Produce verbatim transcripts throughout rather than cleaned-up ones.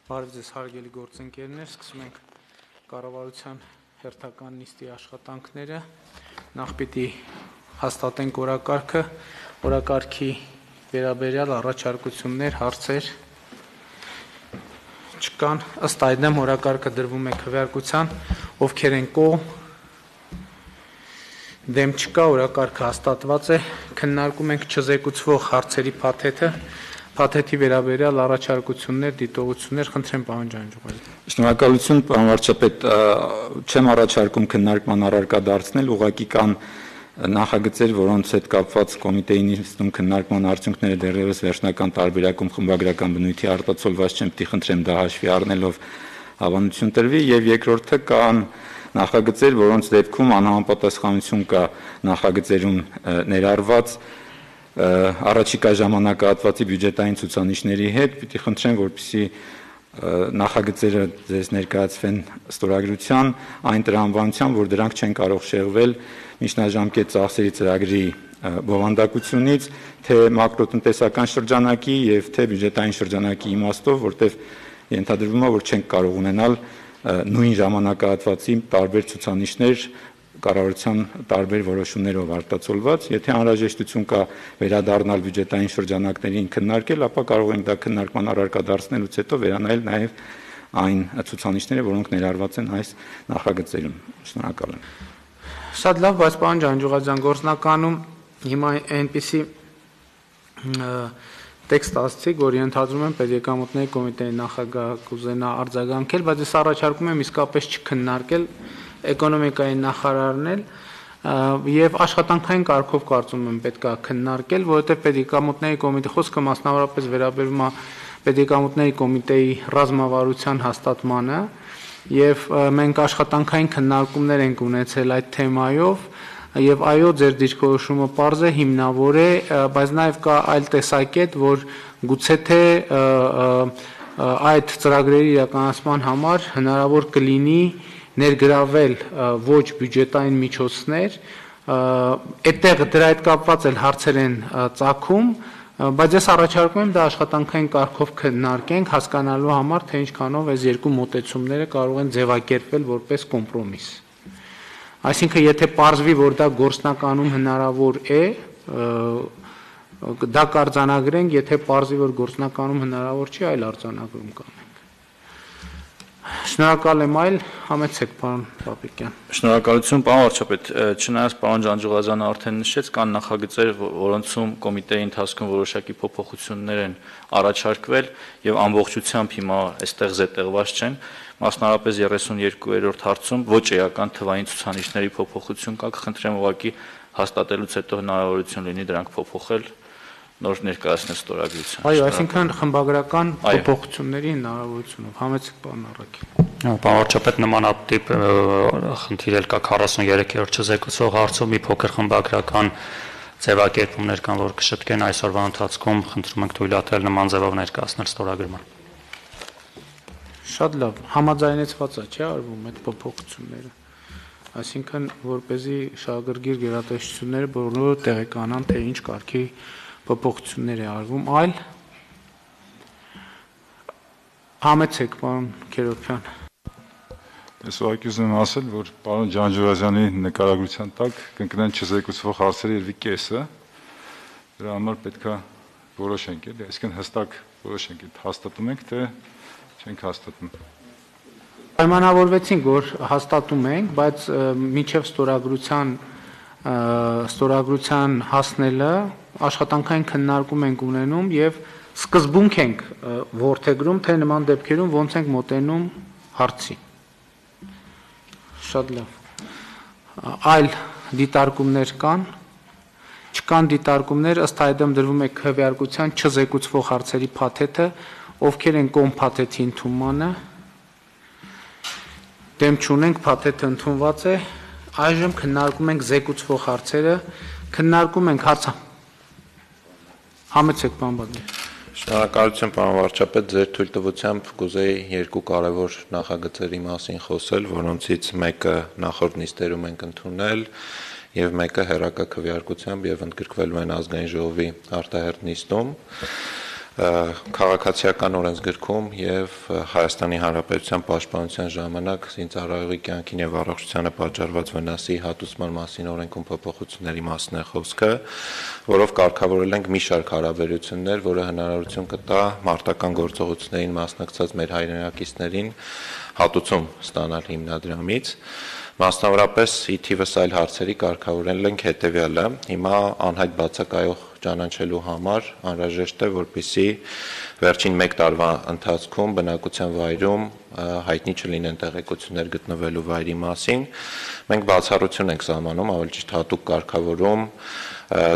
Բարև ձեզ հարգելի գործընկերներ, սկսում ենք կառավարության հերթական նիստի աշխատանքները, նախ պիտի հաստատենք օրակարգը, օրակարգի վերաբերյալ առաջարկություններ, հարցեր չկան, ըստ այդմ օրակարգը դրվում է քվեարկության, ովքեր են կողմ, դեմ չկա, օրակարգը հաստատված է, քննարկում ենք չզեկուցվող հարցերի փաթեթը, Փաթեթի վերաբերյալ առաջարկություններ, դիտողություններ, խնդրեմ պարոն Ջանջուղազյան։ Շնորհակալություն, պարոն վարչապետ, չեմ առաջարկում քննարկման առարկա դարձնել, ուղղակի կան նախագծեր, որոնց հետ կապված կոմիտեի նիստում քննարկման արդյունքները դեռևս վերջնական տարբերակում խմբագրական բնույթի արտացոլված չեն, պիտի խնդրեմ դա հաշվի առնելով հավանություն տրվի, եւ երկրորդը կան նախագծեր, որոնց դեպքում անհամապատասխանություն կա նախագծերում ներառված առաջիկա ժամանակահատվածի բյուջետային ցուցանիշների հետ, պիտի խնդրեմ, որպեսզի նախագծերը ձեզ ներկայացվեն ստորագրության, այն տրամաբանությամբ, որ դրանք չեն կարող շեղվել միջնաժամկետ ծախսերի ծրագրի բովանդակությունից, թե մակրոտնտեսական շրջանակի եւ թե բյուջետային շրջանակի իմաստով, որտեղ ենթադրվում է, որ չենք կարող ունենալ նույն ժամանակահատվածի տարբեր ցուցանիշներ կառավարության տարբեր որոշումներով արտացոլված, եթե անհրաժեշտություն կա վերադառնալ բյուջետային շրջանակներին քննարկել, ապա կարող ենք դա քննարկման առարկա դարձնելուց հետո վերանայել նաև այն ցուցանիշները, որոնք ներառված են այս նախագծերում։ Շնորհակալ եմ։ Շատ լավ, բայց պարոն Ջանջուղազյան, գործնականում հիմա այնպիսի տեքստ ասացիք, որ ենթադրում եմ պետեկամուտների կոմիտեի նախագահ կուզենա արձագանքել, բայց ես առաջարկում եմ իսկապես չքննարկել էկոնոմիկայի նախարարն էլ եւ աշխատանքային կարգով կարծում եմ պետք է քննարկել, որովհետեւ պետեկամուտների կոմիտե խոսքը մասնավորապես վերաբերում է պետեկամուտների կոմիտեի ռազմավարության հաստատմանը եւ մենք աշխատանքային քննարկումներ ենք ունեցել այդ թեմայով եւ այո ձեր դիրքորոշումը պարզ է, հիմնավոր է, բայց նաեւ կա այլ տեսակետ, որ գուցե թե այդ ծրագրերի իրականացման համար հնարավոր կլինի ներգրավել ոչ բյուջետային միջոցներ, այդտեղ դրա հետ կապված էլ հարցեր են ծագում, բայց ես առաջարկում եմ դա աշխատանքային կարգով քննարկենք, հասկանալու համար, թե ինչքանով այս երկու մոտեցումները կարող են ձևակերպվել որպես կոմպրոմիս։ Այսինքն, եթե պարզվի, որ դա գործնականում հնարավոր է, դա կարձանագրենք, եթե պարզվի, որ գործնականում հնարավոր չի, այլ արձանագրում կանենք։ Շնորհակալ եմ, այլ համեցեք, պարոն Պապիկյան։ Շնորհակալություն, պարոն վարչապետ, չնայած պարոն Ջանջուղազյանը արդեն նշեց, կան նախագծեր, որոնցում կոմիտեի ընթացքում որոշակի փոփոխություններ են առաջարկվել եւ ամբողջությամբ հիմա այստեղ զետեղված չեն, մասնավորապես երեսունյոթերորդ հարցում ոչ էական թվային ցուցանիշների փոփոխություն կա, կխնդրեմ ուղղակի հաստատելուց հետո հնարավորություն լինի դրանք փոփոխել նոր ներկայացնել ստորագրության։ Այո, այսինքն խմբագրական փոփոխությունների հնարավորությունով։ Համեցեք, պարոն Առաքել։ Պարոն վարչապետ, նմանատիպ խնդիր էլ կա քառասուններեքերորդ չզեկուցող հարցում, մի փոքր խմբագրական ձևակերպումներ կան, որ կշտկեն այսօրվա ընթացքում, խնդրում ենք թույլատրել նման ձևով ներկայացնել ստորագրման։ Շատ լավ, համաձայնեցված է, չէ՞, արվում այդ փոփոխությունները։ Այսինքն, որպեսզի շահագրգիռ գերատեսչությունները բոլորը տեղեկանան, թե ինչ կարգի փոփոխություններ է արվում, այլ համեցեք, պարոն Քերոբյան։ Ես ուղղակի ուզում եմ ասել, որ պարոն Ջանջուղազյանի նկարագրության տակ կընկնեն չզեկուցվող հարցերի երևի կեսը, դրա համար պետք է որոշենք, էլի, այսինքն հստակ որոշենք, հաստատում ենք, թե չենք հաստատում։ Պայմանավորվեցինք, որ հաստատում ենք, բայց մինչև ստորագրության ստորագրության հասնելը աշխատանքային քննարկում ենք ունենում եւ սկզբունք ենք որդեգրում, թե նման դեպքերում ոնց ենք մոտենում հարցի։ Շատ լավ։ Այլ դիտարկումներ կան, չկան դիտարկումներ, ըստ այդմ դրվում է քվեարկության չզեկուցվող հարցերի փաթեթը, ովքեր են կողմ փաթեթի ընդունմանը, դեմ չունենք, փաթեթը ընդունված է, այժմ քննարկում ենք զեկուցվող հարցերը, քննարկում ենք հարցը։ Համեցեք, պարոն Բադմիրյան։ Շնորհակալություն, պարոն վարչապետ, ձեր թույլտվությամբ կուզեի երկու կարևոր նախագծերի մասին խոսել, որոնցից մեկը նախորդ նիստերում ենք ընդունել եւ մեկը հերակա քվեարկությամբ եւ ընդգրկվելու են ազգային ժողովի արտահերթ նիստում։ քաղաքացիական օրենսգրքում եւ Հայաստանի Հանրապետության Պաշտպանության ժամանակ զինծառայողի կյանքին եւ առողջությանը պատճառված վնասի հատուցման մասին օրենքում փոփոխությունների մասին է խոսքը, որով կարգավորել ենք մի շարք հարաբերություններ, որը հնարավորություն կտա մարտական գործողություններին մասնակցած մեր հայրենակիցներին հատուցում ստանալ հիմնադրամից։ Մասնավորապես ի թիվս այլ հարցերի կարգավորել ենք հետևյալը. հիմա անհայտ բացակայող ճանաչելու համար անհրաժեշտ է, որպեսզի վերջին մեկ տարվա ընթացքում բնակության վայրում հայտնի չլինեն տեղեկություններ գտնվելու վայրի մասին։ Մենք բացառություն ենք սահմանում, ավելի ճիշտ հատուկ կարգավորում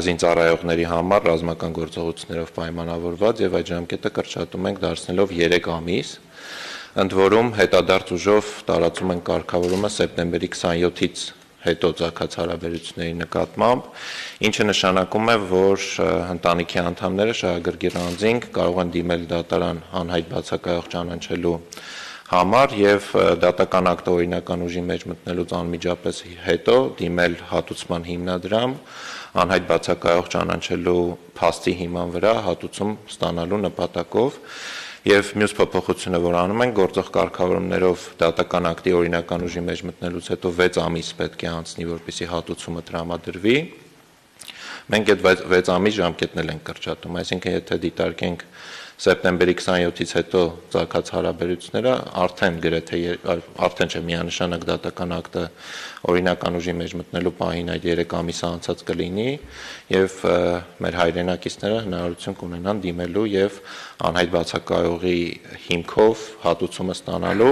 զինծառայողների համար ռազմական գործողություններով պայմանավորված եւ այդ ժամկետը կրճատում ենք դարձնելով երեք ամիս։ Ընդ որում հետադարձ ուժով տարածում են կարգավորումը սեպտեմբերի քսանյոթից հետո ցակած հարաբերությունների նկատմամբ, ինչը նշանակում է, որ ընտանիքի անդամները շահագրգիռ անձինք կարող են դիմել դատարան անհայտ բացակայող ճանաչելու համար եւ դատական ակտը օրինական ուժի մեջ մտնելուց անմիջապես հետո դիմել հատուցման հիմնադրամ անհայտ բացակայող ճանաչելու փաստի հիման վրա հատուցում ստանալու նպատակով։ Եվ մյուս փոփոխությունը, որ անում են, գործող կարգավորումներով դատական ակտի օրինական ուժի մեջ մտնելուց հետո վեց ամիս պետք է անցնի, որպեսզի հատուցումը տրամադրվի։ Մենք այդ վեց ամիս ժամկետն ենք կրճատում, այսինքն եթե դիտարկենք սեպտեմբերի քսանյոթից հետո ցակած հարաբերությունները, արդեն գրեթե արդեն չէ միանշանակ դատական ակտը օրինական ուժի մեջ մտնելու պահին այդ երեք ամիսը անցած կլինի եւ մեր հայրենակիցները հնարավորություն կունենան դիմելու եւ անհայտ բացակայողի հիմքով հատուցումը ստանալու։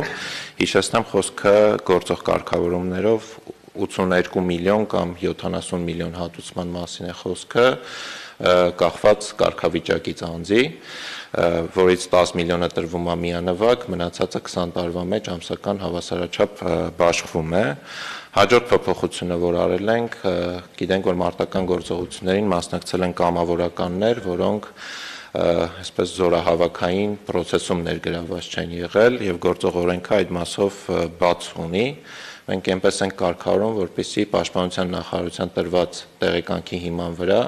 Հիշեցնեմ, խոսքը գործող կարգավորումներով ութսուներկու միլիոն կամ յոթանասուն միլիոն հատուցման մասին է խոսքը, կախված կարգավիճակից անձի, որից տասը միլիոնը տրվում է միանվագ, մնացածը քսան տարվա մեջ ամսական հավասարաչափ բաշխվում է։ Հաջորդ փոփոխությունը, որ արել ենք, գիտենք, որ մարտական գործողություններին մասնակցել են կամավորականներ, որոնք այսպես զորահավաքային process-ում ներգրավված չեն եղել եւ գործող օրենքը այդ մասով բաց ունի։ Մենք այնպես ենք կարգավորում, որպեսզի Պաշտպանության նախարարության տրված տեղեկանքի հիման վրա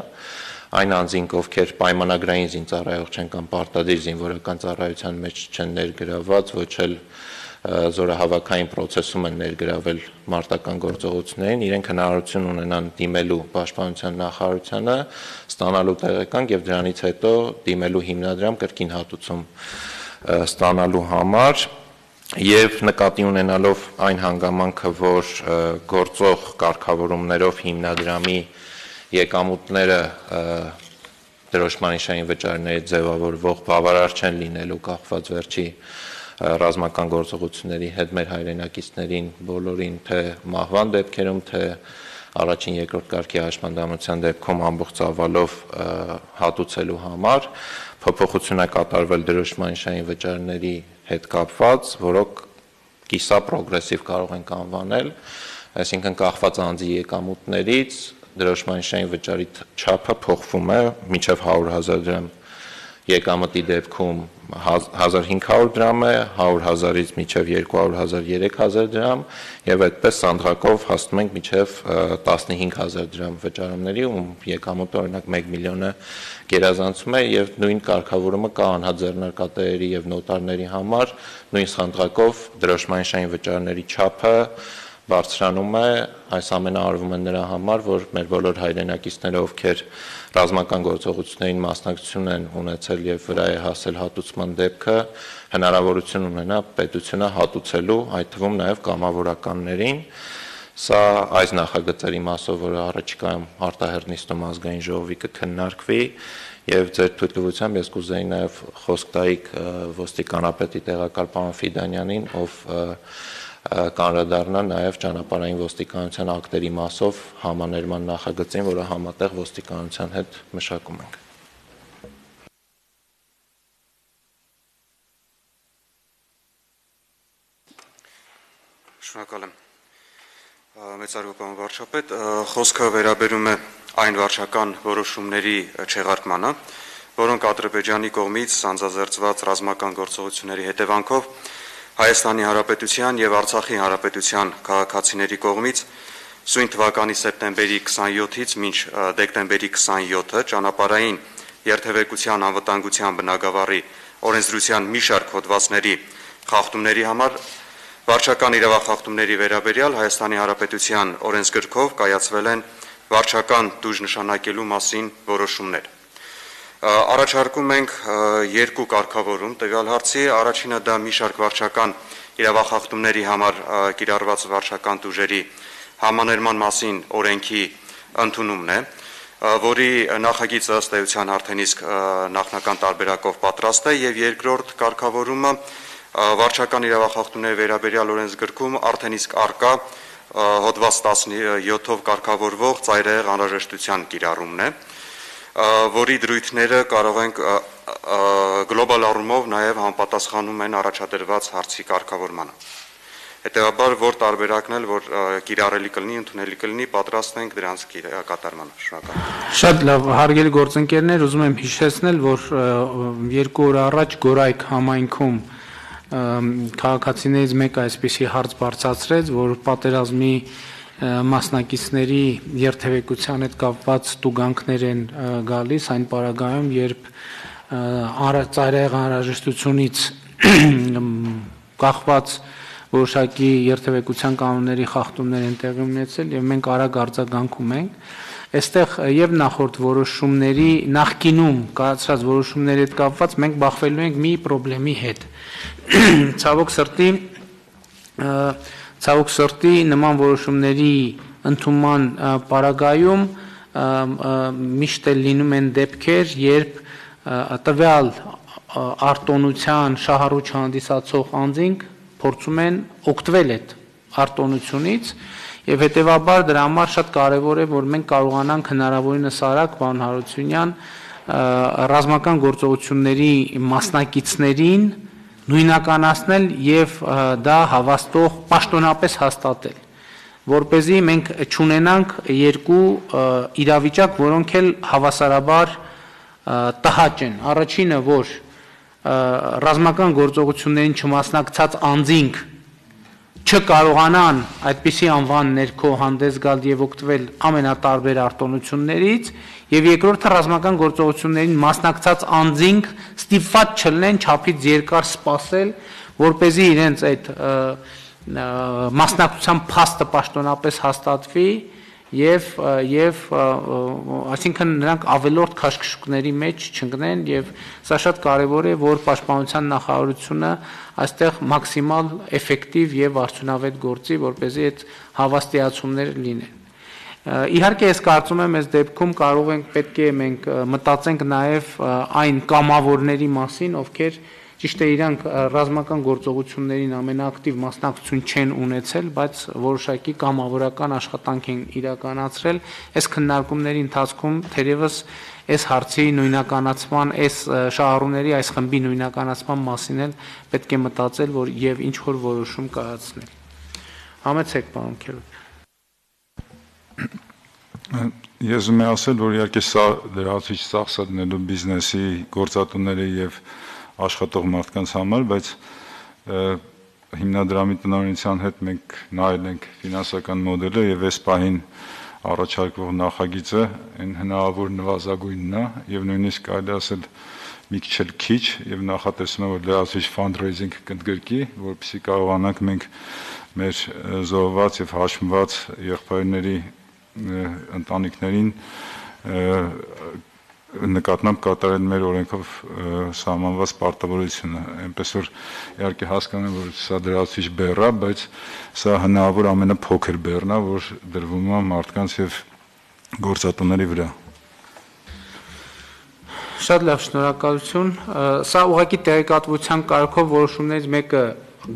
այն անձինք, ովքեր պայմանագրային զինծառայող չեն կամ պարտադիր զինվորական ծառայության մեջ չեն ներգրավված, ոչ էլ զորահավաքային process-ում են ներգրավել մարտական գործողություններին, իրենք հնարավորություն ունենան դիմելու Պաշտպանության նախարարությանը, ստանալու տեղեկանք եւ դրանից հետո դիմելու հիմնադրամ կրկին հատուցում ստանալու համար եւ նկատի ունենալով այն հանգամանքը, որ գործող կարգավորումներով հիմնադրամի եկամուտները դրոշմանիշային վճարների ձևավորվող բավարար չեն լինելու կախված վերջի ռազմական գործողությունների հետ մեր հայրենակիցներին բոլորին թե մահվան դեպքերում, թե առաջին երկրորդ կարգի հաշմանդամության դեպքում ամբողջ ծավալով հատուցելու համար փոփոխություն է կատարվել դրոշմանիշային վճարների հետ կապված, որոնք կիսա պրոգրեսիվ կարող ենք անվանել, այսինքն կախված անձի եկամուտներից դրոշմանիշային վճարի չափը փոխվում է մինչև հարյուր հազար դրամ եկամտի դեպքում հազար հինգ հարյուր դրամ է, հարյուր հազարից մինչև երկու հարյուր հազար երեք հազար դրամ եւ այդպես սանդղակով հասնում ենք մինչև տասնհինգ հազար դրամ վճարումների, ում եկամուտը օրինակ մեկ միլիոնը գերազանցում է եւ նույն կարգավորումը կա անհատ ձեռնարկատերերի եւ նոտարների համար, նույն սանդղակով դրոշմանիշային վճարների չափը բարձրանում է, այս ամենը արվում է նրա համար, որ մեր բոլոր հայրենակիցները, ովքեր ռազմական գործողություններին մասնակցություն են ունեցել եւ վրա է հասել հատուցման դեպքը, հնարավորություն ունենա պետությունը հատուցելու, այդ թվում նաեւ կամավորականներին։ Սա այս նախագծերի մասով, որը առաջիկայում արտահերտ նիստում ազգային ժողովի կքննարկվի եւ ձեր թույլտվությամբ ես կուզեի նաեւ խոսք տայիք ոստիկանապետի տեղակալ պարոն Ֆիդանյանին, ով կանրադառնա նաև ճանապարհային ոստիկանության ակտերի մասով համաներման նախագծին, որը համատեղ ոստիկանության հետ մշակում ենք։ Շնորհակալ եմ։ Մեծարգո պարոն վարչապետ, խոսքը վերաբերում է այն վարչական որոշումների չեղարկմանը, որոնք Ադրբեջանի կողմից սանձազերծված ռազմական գործողությունների հետևանքով Հայաստանի Հանրապետության եւ Արցախի Հանրապետության քաղաքացիների կողմից սույն թվականի սեպտեմբերի քսանյոթից մինչ դեկտեմբերի քսանյոթը ճանապարհային երթևեկության անվտանգության բնագավառի օրենսդրության մի շարք հոդվածների խախտումների համար վարչական իրավախախտումների վերաբերյալ Հայաստանի Հանրապետության օրենսգրքով կայացվել են վարչական տուժ նշանակելու մասին որոշումներ։ Առաջարկում ենք երկու կարգավորում տվյալ հարցի, առաջինը դա մի շարք վարչական իրավախախտումների համար կիրառված վարչական տուժերի համաներման մասին օրենքի ընդունումն է, որի նախագիծը ըստ էության արդեն իսկ նախնական տարբերակով պատրաստ է, եւ երկրորդ կարգավորումը վարչական իրավախախտումների վերաբերյալ օրենսգրքում արդեն իսկ արկա հոդված տասնյոթով կարգավորվող ծայրահեղ անհրաժեշտության կիրառումն է, որի դրույթները կարող ենք գլոբալ առումով նաև համապատասխանում են առաջադրված հարցի կարգավորմանը։ Հետևաբար, որ տարբերակն էլ, որ կիրառելի կլինի, ընդունելի կլինի, պատրաստ ենք դրանց կատարմանը։ Շնորհակալ։ Շատ լավ, հարգելի գործընկերներ, ուզում եմ հիշեցնել, որ երկու օր առաջ Գորայք համայնքում քաղաքացիներից մեկը այսպիսի հարց բարձրացրեց, որ պատերազմի մասնակիցների երթևեկության հետ կապված տուգանքներ են գալիս այն պարագայում, երբ ծայրահեղ անհրաժեշտությունից կախված որոշակի երթևեկության կանոնների խախտումներ են տեղի ունեցել եւ մենք արագ արձագանքում ենք։ Այստեղ եւ նախորդ որոշումների նախկինում կայացած որոշումների հետ կապված մենք բախվելու ենք մի խնդրի հետ։ Ցավոք սրտի ցավոք սրտի նման որոշումների ընդունման պարագայում միշտ էլ լինում են դեպքեր, երբ տվյալ արտոնության շահառուչ հանդիսացող անձինք փորձում են օգտվել այդ արտոնությունից եւ հետեւաբար դրա համար շատ կարեւոր է, որ մենք կարողանանք հնարավորինս արագ պարոն Հարությունյան ռազմական գործողությունների մասնակիցներին նույնականացնել եւ դա հավաստող պաշտոնապես հաստատել, որպեսզի մենք չունենանք երկու իրավիճակ, որոնք էլ հավասարաբար տհաճ են։ Առաջինը, որ ռազմական գործողություններին չմասնակցած անձինք չկարողանան այդպիսի անվան ներքո հանդես գալ եւ օգտվել ամենատարբեր արտոնություններից, եւ երկրորդը ռազմական գործողություններին մասնակցած անձինք ստիպված չլինեն չափից երկար սպասել, որպեսզի իրենց այդ մասնակցության փաստը պաշտոնապես հաստատվի եւ եւ այսինքն նրանք ավելորդ քաշքշուկների մեջ չընկնեն եւ սա շատ կարեւոր է, որ պաշտպանության նախարարությունը այստեղ մաքսիմալ էֆեկտիվ եւ արդյունավետ գործի, որպեսզի այդ հավաստիացումները լինեն։ Իհարկե ես կարծում եմ, այս դեպքում կարող ենք պետք է մենք մտածենք նաեւ այն կամավորների մասին, ովքեր ճիշտ է իրանք ռազմական գործողություններին ամենաակտիվ մասնակցություն չեն ունեցել, բայց որոշակի կամավորական աշխատանք են իրականացրել։ Այս քննարկումների ընթացքում թերևս այս հարցի նույնականացման, այս շահառուների այս խմբի նույնականացման մասին էլ պետք է մտածել, որ եւ ինչ որ որոշում կայացնել։ Համեցեք, պարոն Քերոտ։ Ես ուզում եմ ասել, որ իհարկե սա լրացուցիչ ծախս է դնելու բիզնեսի գործատուների եւ աշխատող մարդկանց համար, բայց հիմնադրամի տնօրինության հետ մենք նայել ենք ֆինանսական մոդելը եւ այս պահին առաջարկվող նախագիծը այն հնարավոր նվազագույնն է եւ նույնիսկ կարելի ասել մի քիչ էլ քիչ եւ նախատեսում եմ, որ լրացուցիչ fundraising կընդգրկի, որպեսզի կարողանանք մենք մեր զոհված եւ հաշմված եղբայրների ընտանիքներին նկատմամբ կատարել մեր օրենքով սահմանված պարտավորությունը, այնպես որ իհարկե հասկանում եմ, որ սա դրացուցիչ բեռ է, բայց սա հնարավոր ամենափոքր բեռն է, որ դրվում է մարդկանց եւ գործատուների վրա։ Շատ լավ, շնորհակալություն։ Սա ուղղակի տեղեկատվության կարգով որոշումներից մեկը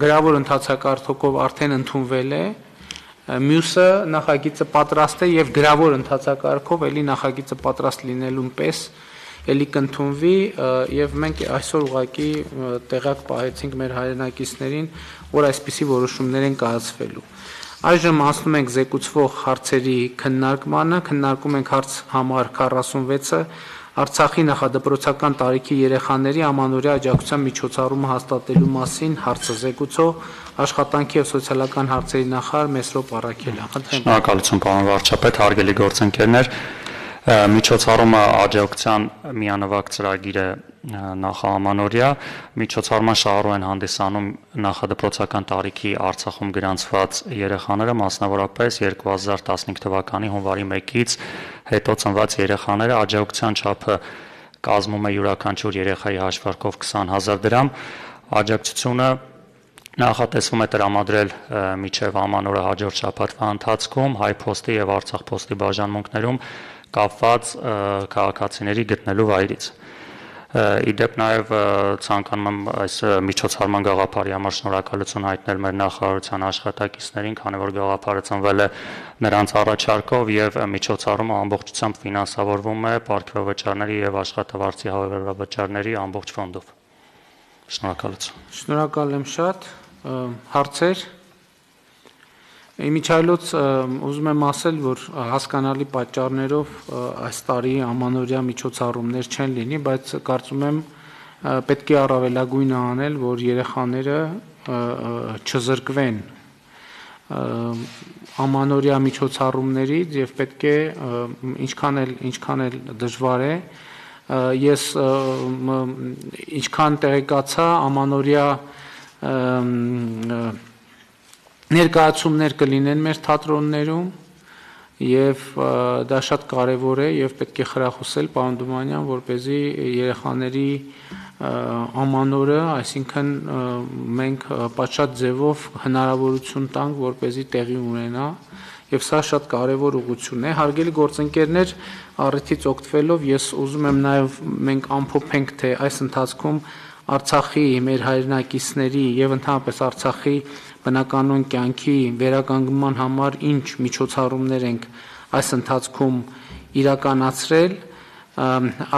գրավոր ընթացակարգով արդեն ընդունվել է, մյուսը նախագիծը պատրաստ է եւ գրավոր ընթացակարգով էլի նախագիծը պատրաստ լինելուն պես էլի կընդունվի եւ մենք այսօր ուղղակի տեղակ պահեցինք մեր հայրենակիցներին, որ այսպիսի որոշումներ են կայացվելու։ Այժմ անցնում ենք զեկուցվող հարցերի քննարկմանը, քննարկում ենք հարց համար քառասունվեցը Արցախի նախադպրոցական տարիքի երեխաների ամանորյա աջակցության միջոցառումը հաստատելու մասին հարցը զեկուցող աշխատանքի եւ սոցիալական հարցերի նախարար Մեսրոպ Առաքելյան։ Շնորհակալություն, պարոն վարչապետ, հարգելի գործընկերներ։ Միջոցառումը աջակցության միանվագ ծրագիր է նախաամանորյա, միջոցառման շահառու են հանդիսանում նախադպրոցական տարիքի Արցախում գրանցված երեխաները, մասնավորապես երկու հազար տասնհինգ թվականի հունվարի մեկից հետո ծնված երեխաները, աջակցության չափը կազմում է յուրաքանչյուր երեխայի հաշվարկով քսան հազար դրամ, աջակցությունը նախատեսվում է տրամադրել մինչև ամանորը հաջորդ շաբաթվա ընթացքում Հայ փոստի եւ Արցախ փոստի բաժանմունքներում կապված քաղաքացիների գտնելու վայրից։ Իդեպ նաև ցանկանում եմ այս միջոցառման գաղափարի համար շնորհակալություն հայտնել մեր նախարարության աշխատակիցներին, քանի որ գաղափարը ծնվել է նրանց առաջարկով եւ միջոցառումը ամբողջությամբ ֆինանսավորվում է պարգևավճարների եւ աշխատավարձի հավելավճարների ամբողջ ֆոնդով։ Շնորհակալություն։ Շնորհակալ եմ շատ։ Հարցեր։ Իմիջայլոց ուզում եմ ասել, որ հասկանալի պատճառներով այս տարի ամանորյա միջոցառումներ չեն լինի, բայց կարծում եմ պետք է առավելագույնը անել, որ երեխաները չզրկվեն ամանորյա միջոցառումներից եւ պետք է ինչքան էլ ինչքան էլ դժվար է ես ինչքան տեղեկացա ամանորյա ներկայացումներ կլինեն մեր թատրոններում եւ դա շատ կարեւոր է եւ պետք է խրախուսել պարոն Դումանյան, որպեսզի երեխաների ամանորը, այսինքն մենք պատշաճ ձևով հնարավորություն տանք, որպեսզի տեղի ունենա եւ սա շատ կարեւոր ուղղություն է։ Հարգելի գործընկերներ, առիթից օգտվելով ես ուզում եմ նաեւ մենք ամփոփենք, թե այս ընթացքում Արցախի մեր հայրենակիցների եւ ընդհանրապես Արցախի բնականոն կյանքի վերականգնման համար ինչ միջոցառումներ ենք այս ընթացքում իրականացրել։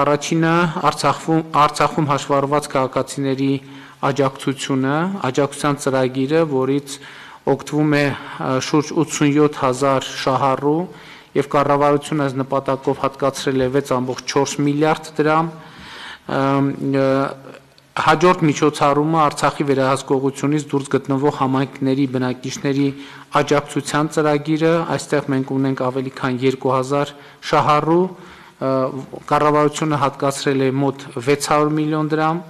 Առաջինը Արցախում Արցախում հաշվառված քաղաքացիների աջակցությունը, աջակցության ծրագիրը, որից օգտվում է շուրջ ութսունյոթ հազար շահառու եւ կառավարությունը այս նպատակով հատկացրել է վեց ամբողջ չորս միլիարդ դրամ։ Հաջորդ միջոցառումը Արցախի վերահսկողությունից դուրս գտնվող համայնքների բնակիչների աջակցության ծրագիրը, այստեղ մենք ունենք ավելի քան երկու հազար շահառու, կառավարությունը հատկացրել է մոտ վեց հարյուր միլիոն դրամ,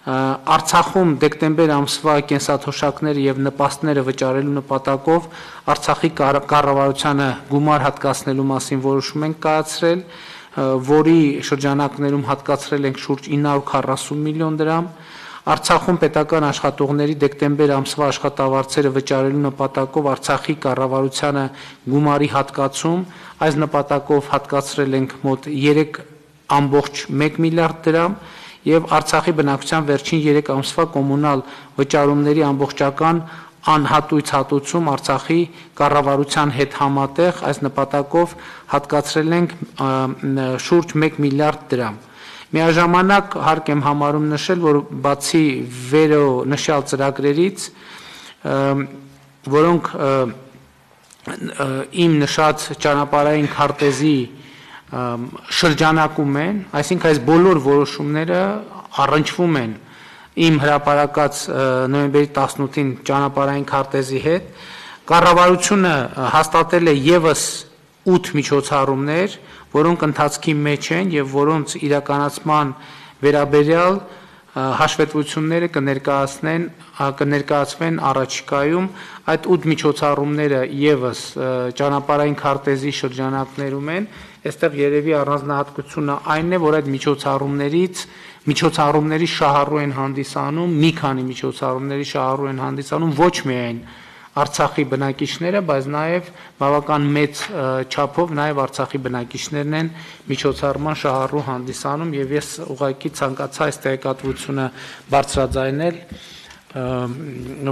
Արցախում դեկտեմբեր ամսվա կենսաթոշակները եւ նպաստները վճարելու նպատակով Արցախի կառավարությանը գումար հատկացնելու մասին որոշում ենք կայացրել, որի շրջանակներում հատկացրել ենք շուրջ ինը հարյուր քառասուն միլիոն դրամ, Արցախում պետական աշխատողների դեկտեմբեր ամսվա աշխատավարձերը վճարելու նպատակով Արցախի կառավարությանը գումարի հատկացում, այս նպատակով հատկացրել ենք մոտ երեք ամբողջ մեկ միլիարդ դրամ եւ Արցախի բնակչության վերջին երեք ամսվա կոմունալ վճարումների ամբողջական անհատույց հատուցում Արցախի կառավարության հետ համատեղ այս նպատակով հատկացրել ենք շուրջ մեկ միլիարդ դրամ։ Միաժամանակ հարկ եմ համարում նշել, որ բացի վերո նշյալ ծրագրերից, որոնք իմ նշած ճանապարհային քարտեզի շրջանակում են, այսինքն այս բոլոր որոշումները առնչվում են իմ հրապարակած նոյեմբերի տասնութին ճանապարհային քարտեզի հետ, կառավարությունը հաստատել է եւս ութ միջոցառումներ, որոնք ընթացքի մեջ են եւ որոնց իրականացման վերաբերյալ հաշվետվությունները կներկայացնեն կներկայացվեն առաջիկայում այդ ութ միջոցառումները եւս ճանապարհային քարտեզի շրջանակներում են, այստեղ երևի առանձնահատկությունը այն է, որ այդ միջոցառումներից միջոցառումների շահառու են հանդիսանում, մի քանի միջոցառումների շահառու են հանդիսանում ոչ միայն Արցախի բնակիչները, բայց նաև բավական մեծ չափով նաև Արցախի բնակիչներն են միջոցառման շահառու հանդիսանում եւ ես ուղղակի ցանկացա այս տեղեկատվությունը բարձրաձայնել,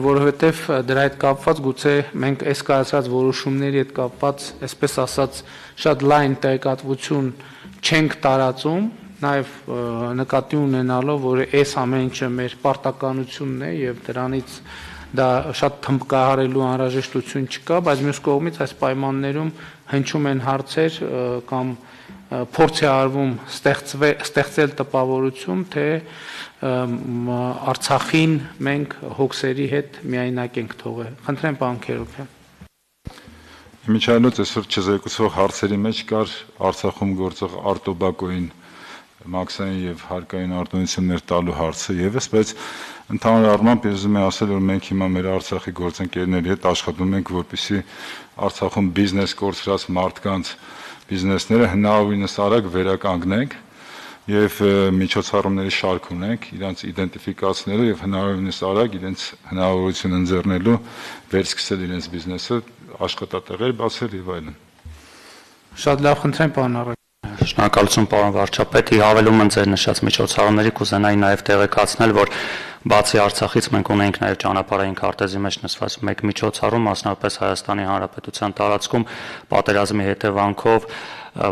որովհետեւ դրա հետ կապված գուցե մենք այս կայացած որոշումների հետ կապված, այսպես ասած, շատ լայն տեղեկատվություն չենք տարածում, նաև նկատի ունենալով, որ այս ամեն ինչը մեր պարտականությունն է եւ դրանից դա շատ թմբկահարելու անհրաժեշտություն չկա, բայց մյուս կողմից այս պայմաններում հնչում են հարցեր կամ փորձ է արվում ստեղծել տպավորություն, թե Արցախին մենք հոգսերի հետ միայնակ ենք թողել։ Խնդրեմ, պարոն Քերոբյան։ Իմիջայլոց այսօր չզեկուցող հարցերի մեջ կար Արցախում գործող արտոբակոյին մաքսային եւ հարկային արտոնություններ տալու հարցը եւս, բայց ընդհանուր առմամբ ես ուզում եմ ասել, որ մենք հիմա մեր Արցախի գործընկերների հետ աշխատում ենք, որպեսզի Արցախում բիզնես կորցրած մարդկանց բիզնեսները հնարավորինս արագ վերականգնենք եւ միջոցառումների շարք ունենք, իրենց իդենտիֆիկացնելու եւ հնարավորինս արագ իրենց հնարավորություն ընձեռնելու վերսկսել իրենց բիզնեսը, աշխատատեղեր բացել եւ այլն։ Շատ լավ, խնդրեմ, պարոն Առաքելյան։ Շնորհակալություն, պարոն վարչապետ, հավելում եմ ձեր նշած միջոցառումների, կուզենայի նաև տեղեկացնել, որ բացի Արցախից մենք ունենք նաև ճանապարհային քարտեզի մեջ նշված մեկ միջոցառում, մասնավորապես Հայաստանի Հանրապետության տարածքում պատերազմի հետևանքով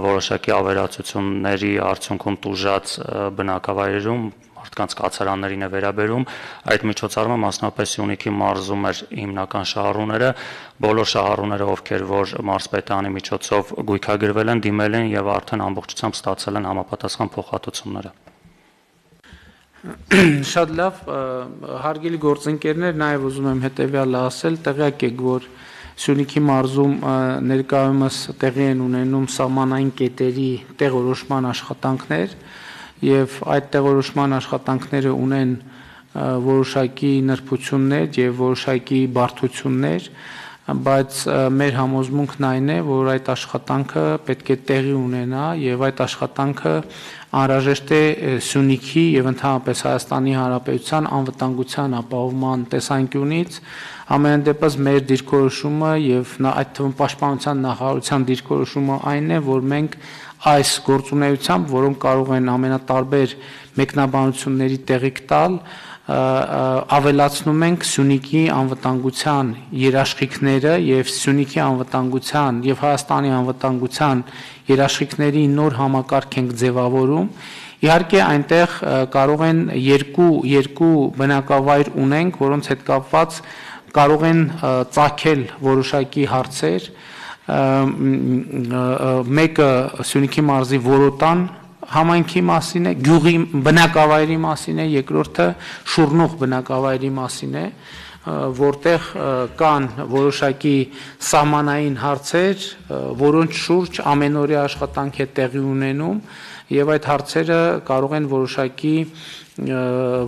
որոշակի ավերածությունների արդյունքում տուժած բնակավայրերում մարդկանց կացարաններին է վերաբերում, այդ միջոցառումը մասնապես Սյունիքի մարզում էր հիմնական շահառուները, բոլոր շահառուները, ովքեր որ մարզպետարանի միջոցով գույքագրվել են, դիմել են եւ արդեն ամբողջությամբ ստացել են համապատասխան փոխհատուցումները։ Շատ լավ, հարգելի գործընկերներ, նաև ուզում եմ հետևյալը ասել, տեղյակ եք, որ Սյունիքի մարզում ներկայումս տեղի են ունենում սահմանային կետերի տեղորոշման աշխատանքներ եւ այդ տեղորոշման աշխատանքները ունեն որոշակի նրբություններ եւ որոշակի բարդություններ, բայց մեր համոզմունքն այն է, որ այդ աշխատանքը պետք է տեղի ունենա եւ այդ աշխատանքը անհրաժեշտ է Սյունիքի եւ ընդհանրապես Հայաստանի Հանրապետության անվտանգության ապահովման տեսանկյունից, ամեն դեպս մեր դիրքորոշումը եւ այդ թվում պաշտպանության նախարարության դիրքորոշումը այն է, որ մենք այս գործունեությամբ, որոնք կարող են ամենատարբեր մեկնաբանությունների տեղիք տալ, ավելացնում ենք Սյունիքի անվտանգության երաշխիքները եւ Սյունիքի անվտանգության եւ Հայաստանի անվտանգության երաշխիքների նոր համակարգ ենք ձևավորում։ Իհարկե այնտեղ կարող են երկու երկու բնակավայր ունենք, որոնց հետ կապված կարող են ծագել որոշակի հարցեր, մեկը Սյունիքի մարզի Որոտան համայնքի մասին է, գյուղի բնակավայրի մասին է, երկրորդը Շուռնուղ բնակավայրի մասին է, որտեղ կան որոշակի սահմանային հարցեր, որոնց շուրջ ամենօրյա աշխատանք է տեղի ունենում եւ այդ հարցերը կարող են որոշակի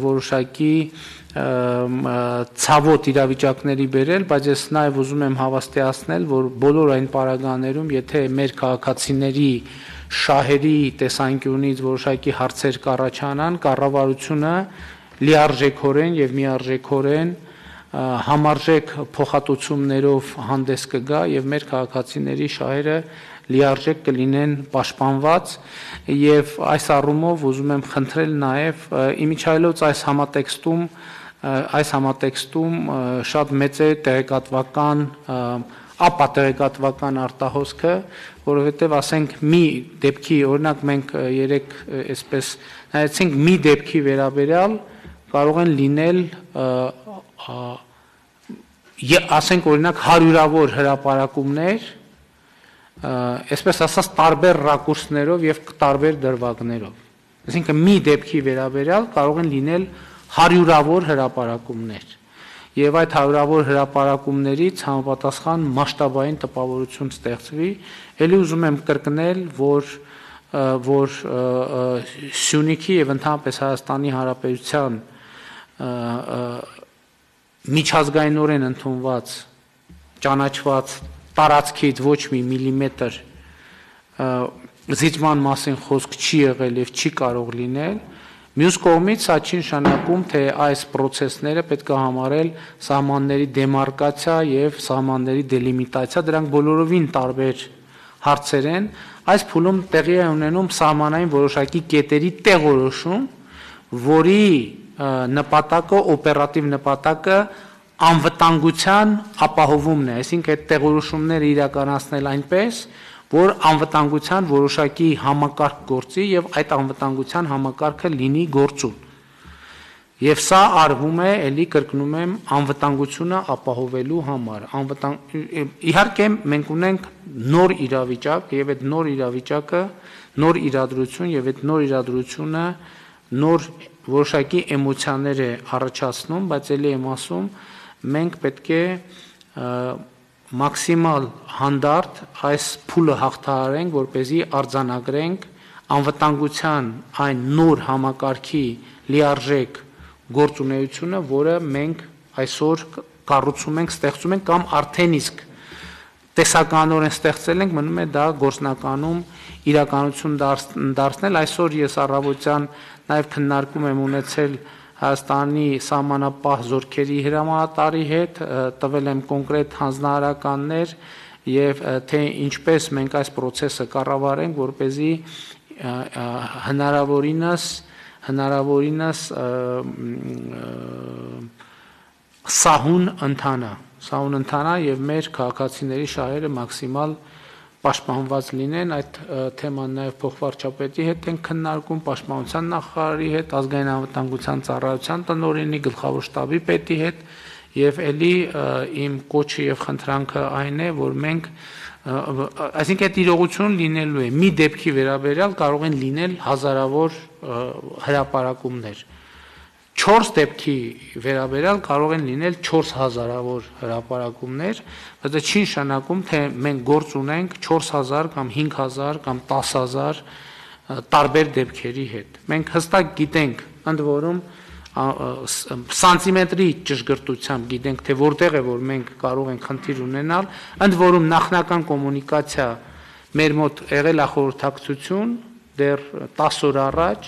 որոշակի ցավոտ իրավիճակների բերել, բայց ես նաև ուզում եմ հավաստիացնել, որ բոլոր այն պարագաներում, եթե մեր քաղաքացիների շահերի տեսանկյունից որոշակի հարցեր կառաջանան, կառավարությունը լիարժեքորեն եւ միարժեքորեն համարժեք փոխհատուցումներով հանդես կգա եւ մեր քաղաքացիների շահերը լիարժեք կլինեն պաշտպանված եւ այս առումով ուզում եմ խնդրել նաեւ իմիջայլոց այս համատեքստում այս համատեքստում շատ մեծ է տեղեկատվական ապատեղեկատվական արտահոսքը, որովհետև ասենք մի դեպքի, օրինակ մենք երեք այսպես նայեցինք մի դեպքի վերաբերյալ կարող են լինել ասենք օրինակ հարյուրավոր հրապարակումներ, այսպես ասած տարբեր ռակուրսներով եւ տարբեր դրվագներով։ Այսինքն մի դեպքի վերաբերյալ կարող են լինել հարյուրավոր հրապարակումներ եւ այդ հարյուրավոր հրապարակումներից համապատասխան մասշտաբային տպավորություն ստեղծվի։ Ելի ուզում եմ կրկնել, որ որ Սյունիքի եւ ընդհանրապես Հայաստանի Հանրապետության միջազգայինորեն ընդունված ճանաչված տարածքից ոչ մի միլիմետր զիջման մասին խոսք չի եղել եւ չի կարող լինել։ Մյուս կողմից սա չի նշանակում, թե այս process-ները պետք է համարել սահմանների դեմարկացիա եւ սահմանների դելիմիտացիա, դրանք բոլորովին տարբեր հարցեր են։ Այս փուլում տեղի է ունենում սահմանային որոշակի կետերի տեղորոշում, որի նպատակը, օպերատիվ նպատակը անվտանգության ապահովումն է, այսինքն այդ տեղորոշումները իրականացնել այնպես, որ անվտանգության որոշակի համակարգ գործի եւ այդ անվտանգության համակարգը լինի գործուն։ Եվ սա արվում է, ելի կրկնում եմ, անվտանգությունը ապահովելու համար։ Անվտանգ իհարկե մենք ունենք նոր իրավիճակ եւ այդ նոր իրավիճակը, նոր իրադրություն եւ այդ նոր իրադրությունը նոր որոշակի էմոցիաներ է առաջացնում, բայց ելի եմ ասում, մենք պետք է մաքսիմալ հանդարտ այս փուլը հաղթահարենք, որպեսզի արձանագրենք անվտանգության այն նոր համակարգի լիարժեք գործունեությունը, որը մենք այսօր կառուցում ենք, ստեղծում ենք կամ արդեն իսկ տեսականորեն ստեղծել ենք, մնում է դա գործնականում իրականություն դարձնել։ Այսօր ես առավոտյան նաև քննարկում եմ ունեցել Հայաստանի սահմանապահ զորքերի հրամանատարի հետ, տվել եմ կոնկրետ հանձնարարականներ եւ թե ինչպես մենք այս process-ը կառավարենք, որպեսզի հնարավորինս հնարավորինս սահուն ընթանա, սահուն ընթանա եւ մեր քաղաքացիների շահերը մաքսիմալ պաշտպանված լինեն։ Այդ թեման նաև փոխվարչապետի հետ են քննարկում, պաշտպանության նախարարի հետ, ազգային անվտանգության ծառայության տնօրենի, գլխավոր շտաբի պետի հետ եւ ելի իմ կոչը եւ խնդրանքը այն է, որ մենք այսինքն այդ իրողություն լինելու է մի դեպքի վերաբերյալ կարող են լինել հազարավոր հրապարակումներ, չորս դեպքի վերաբերյալ կարող են լինել չորս հազարավոր հրապարակումներ, բայց դա չի նշանակում, թե մենք գործ ունենք չորս հազար կամ հինգ հազար կամ տասը հազար տարբեր դեպքերի հետ։ Մենք հստակ գիտենք, ընդ որում սանտիմետրի ճշգրտությամբ գիտենք, թե որտեղ է որ մենք կարող ենք խնդիր ունենալ, ընդ որում նախնական կոմունիկացիա մեր մոտ եղել է խորհրդակցություն դեռ տասը օր առաջ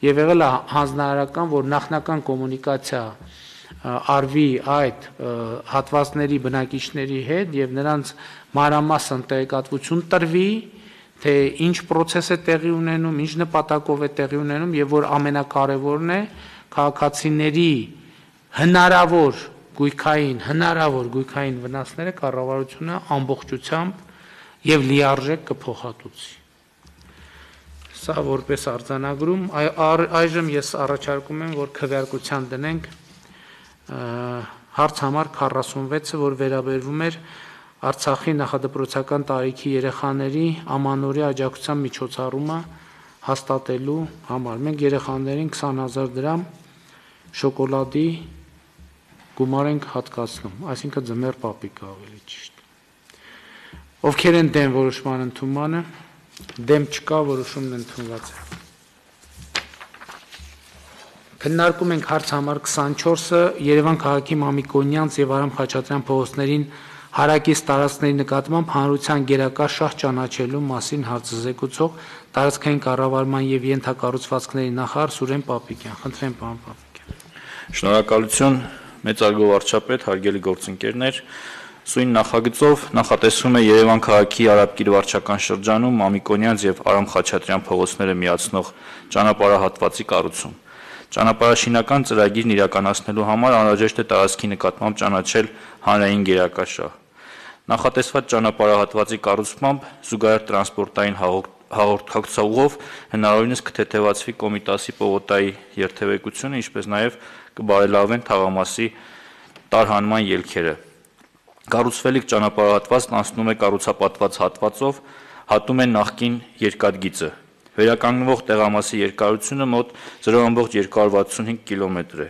եւ եղել է հանձնարարական, որ նախնական կոմունիկացիա արվի այդ հատվածների բնակիչների հետ եւ նրանց մանրամասն տեղեկատվություն տրվի, թե ինչ process է տեղի ունենում, ինչ նպատակով է տեղի ունենում եւ որ ամենակարևորն է քաղաքացիների հնարավոր գույքային, հնարավոր գույքային վնասները կառավարությունը ամբողջությամբ եւ լիարժեք կփոխհատուցի։ Սա որպես արձանագրում, այժմ ես առաջարկում եմ, որ քվեարկության դնենք հարց համար քառասունվեցը, որ վերաբերվում էր Արցախի նախադպրոցական տարիքի երեխաների ամանորյա աջակցության միջոցառումը հաստատելու համար։ Մենք երեխաներին քսան հազար դրամ շոկոլադի գումար ենք հատկացնում, այսինքն ձմեռ պապիկա ավելի ճիշտ։ Ովքեր են դեմ որոշման ընդունմանը, դեմ չկա, որոշումն ընդունված է։ Քննարկում ենք հարց համար քսանչորսը Երևան քաղաքի Մամիկոնյանց եւ Արամ Խաչատրյան փողոցներին հարակից տարածքների նկատմամբ հանրության գերակա շահ ճանաչելու մասին հարցազեկուցող տարածքային կառավարման եւ ենթակառուցվածքների նախարար Սուրեն Պապիկյան։ Խնդրեմ, պարոն Պապիկյան։ Շնորհակալություն, մեծարգո վարչապետ, հարգելի գործընկերներ։ Սույն նախագծով նախատեսվում է Երևան քաղաքի Արաբկիր վարչական շրջանում Մամիկոնյանց եւ Արամ Խաչատրյան փողոցները միացնող ճանապարհահատվածի կառուցում։ Ճանապարհաշինական ծրագիրն իրականացնելու համար անհրաժեշտ է տարածքի նկատմամբ ճանաչել հանրային գերակա շահ։ Նախատեսված ճանապարհահատվածի կառուցմամբ զուգահեռ տրանսպորտային հաղորդակցողով հնարավորինս կթեթևացվի Կոմիտասի պողոտայի երթևեկությունը, ինչպես նաև կբարելավեն թաղամասի տարհանման ելքերը։ Կառուցվելիք ճանապարհահատվածն անցնում է կառուցապատված հատվածով, հատում է նախկին երկաթգիծը։ Վերականգնվող տեղամասի երկարությունը մոտ զրո կόμma երկու վաթսունհինգ կիլոմետր է։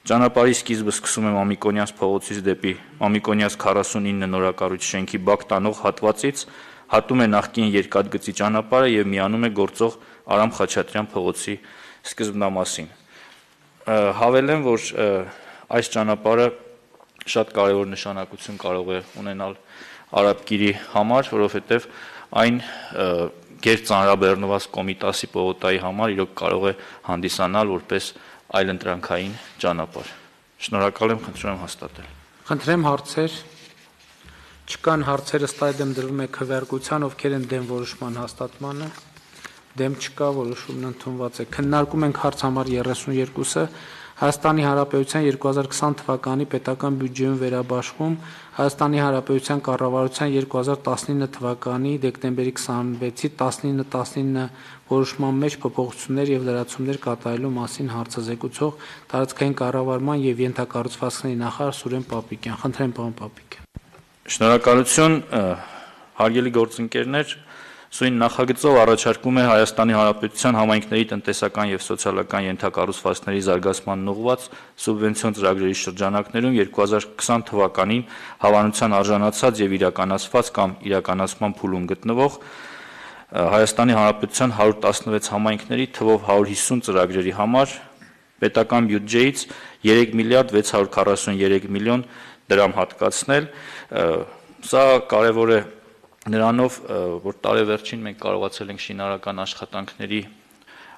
Ճանապարհի սկիզբը սկսում է Մամիկոնյանց փողոցից դեպի Մամիկոնյանց քառասունինը նորակառույց շենքի բակ տանող հատվածից, հատում է նախկին երկաթգծի ճանապարհը եւ միանում է գործող Արամ Խաչատրյան փողոցի սկզբնամասին։ Հավելեմ, որ այս ճանապարհը շատ կարևոր նշանակություն կարող է ունենալ Արաբկիրի համար, որովհետեւ այն գերծանրաբեռնված Կոմիտասի պողոտայի համար իրոք կարող է հանդիսանալ որպես այլընտրանքային ճանապարհ։ Շնորհակալ եմ, խնդրում եմ հաստատել։ Խնդրեմ հարցեր։ Չկան հարցերը, ըստ այդմ դրվում է քվեարկության, ովքեր են դեմ որոշման հաստատմանը։ Դեմ չկա, որոշումն ընդունված է։ Քննարկում ենք հարց համար երեսունյոթը Հայաստանի Հանրապետության երկու հազար քսան թվականի պետական բյուջեում վերաբաշխում Հայաստանի Հանրապետության կառավարության երկու հազար տասնինը թվականի դեկտեմբերի քսանվեցի տասնինը տասնինը որոշման մեջ փոփոխություններ եւ լրացումներ կատարելու մասին հարցազեկուցող տարածքային կառավարման եւ ենթակառուցվածքների նախարար Սուրեն Պապիկյան։ Խնդրեմ, պարոն Պապիկյան։ Շնորհակալություն, հարգելի գործընկերներ, Սույն նախագծով առաջարկում է Հայաստանի Հանրապետության համայնքների տնտեսական եւ սոցիալական ենթակառուցվածքների զարգացմանն ուղղված սուբվենցիոն ծրագրերի շրջանակներում երկու հազար քսան թվականին հավանության արժանացած եւ իրականացված կամ իրականացման փուլում գտնվող Հայաստանի Հանրապետության հարյուր տասնվեց համայնքների թվով հարյուր հիսուն ծրագրերի համար պետական բյուջեից երեք միլիարդ վեց հարյուր քառասուններեք միլիոն դրամ հատկացնել։ Սա կարևոր է նրանով, որ տարեվերջին մենք կարողացել ենք շինարարական աշխատանքների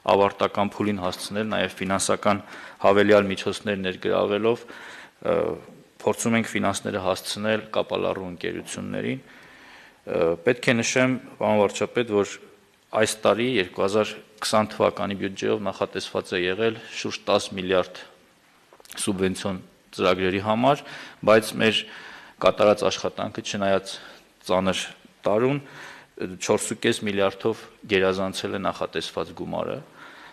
ավարտական փուլին հասցնել, նաև ֆինանսական հավելյալ միջոցներ ներգրավելով փորձում ենք ֆինանսները հասցնել կապալառու ընկերություններին։ Պետք է նշեմ, պարոն վարչապետ, որ այս տարի երկու հազար քսան թվականի բյուջեով նախատեսված է եղել շուրջ տասը միլիարդ սուբվենցիոն ծրագրերի համար, բայց մեր կատարած աշխատանքը չնայած ծանր տարուն չորս միլիարդով գերազանցել է նախատեսված գումարը։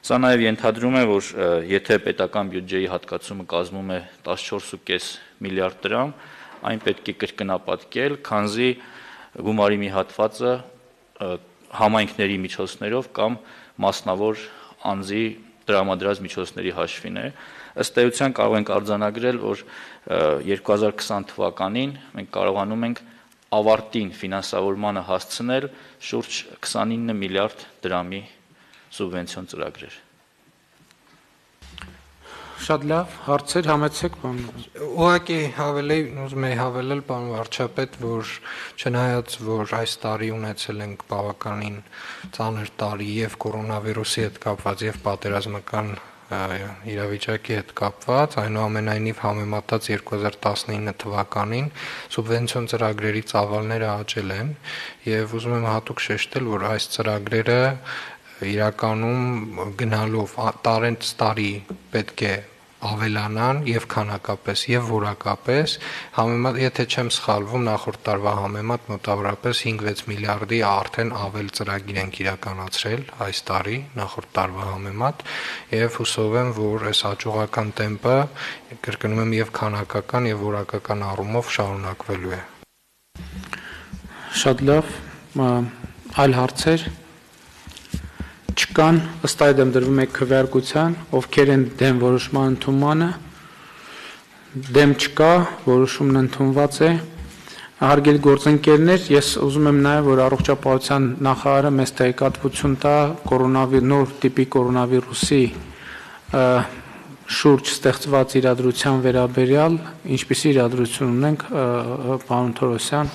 Սա նաև ենթադրում է, որ եթե պետական բյուջեի հատկացումը կազմում է տասնչորս միլիարդ դրամ, այն պետք է կրկնապատկել, քանզի գումարի մի հատվածը համայնքների միջոցներով կամ մասնավոր անձի տրամադրած միջոցների հաշվին է։ Ըստ էության կարող ենք արձանագրել, որ երկու հազար քսան թվականին մենք կարողանում ենք ավարտին ֆինանսավորմանը հասցնել շուրջ քսանինը միլիարդ դրամի սուբվենցիոն ծրագրեր։ Շատ լավ, հարցեր համեցեք, պարոն։ Ուղղակի հավելի, ուզում եի հավելել, պարոն վարչապետ, որ չնայած որ այս տարի ունեցել ենք բավականին ծանր տարի եւ կորոնավիրուսի հետ կապված եւ պատերազմական իրավիճակի հետ կապված, այնուամենայնիվ համեմատած երկու հազար տասնինը թվականին սուբվենցիոն ծրագրերի ծավալները աճել են եւ ուզում եմ հատուկ շեշտել, որ այս ծրագրերը իրականում գնալով տարենց տարի պետք է ավելանան եւ քանակապես եւ որակապես, համեմատ եթե չեմ սխալվում, նախորդ տարվա համեմատ մոտավորապես հինգ-վեց միլիարդի արդեն ավել ծրագիր ենք իրականացրել այս տարի, նախորդ տարվա համեմատ, եւ հուսով եմ, որ այս հաջողական տեմպը, կրկնում եմ, եւ քանակական եւ որակական առումով շարունակվելու է։ Շատ լավ, այլ հարցեր չկան, ըստ այդմ դրվում է քվեարկության, ովքեր են դեմ որոշման ընդունմանը, դեմ չկա, որոշումն ընդունված է։ Հարգելի գործընկերներ, ես ուզում եմ նաև, որ առողջապահության նախարարը մեզ տեղեկատվություն տա կորոնավիր նոր տիպի կորոնավիրուսի շուրջ ստեղծված իրադրության վերաբերյալ, ինչպիսի իրադրություն ունենք, պարոն Թորոսյան։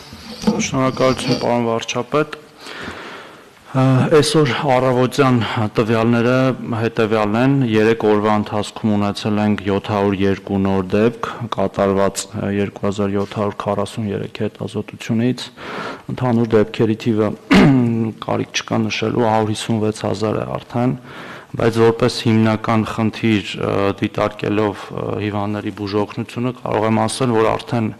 Շնորհակալություն, պարոն վարչապետ։ Այսօր առավոտյան տվյալները հետևյալն են, երեք օրվա ընթացքում ունեցել ենք յոթ հարյուր երկու նոր դեպք, կատարված երկու հազար յոթ հարյուր քառասուններեք հետազոտությունից, ընդհանուր դեպքերի թիվը կարիք չկա նշելու հարյուր հիսունվեց հազար է արդեն, բայց որպես հիմնական խնդիր դիտարկելով հիվանդների բուժօգնությունը կարող եմ ասել, որ արդեն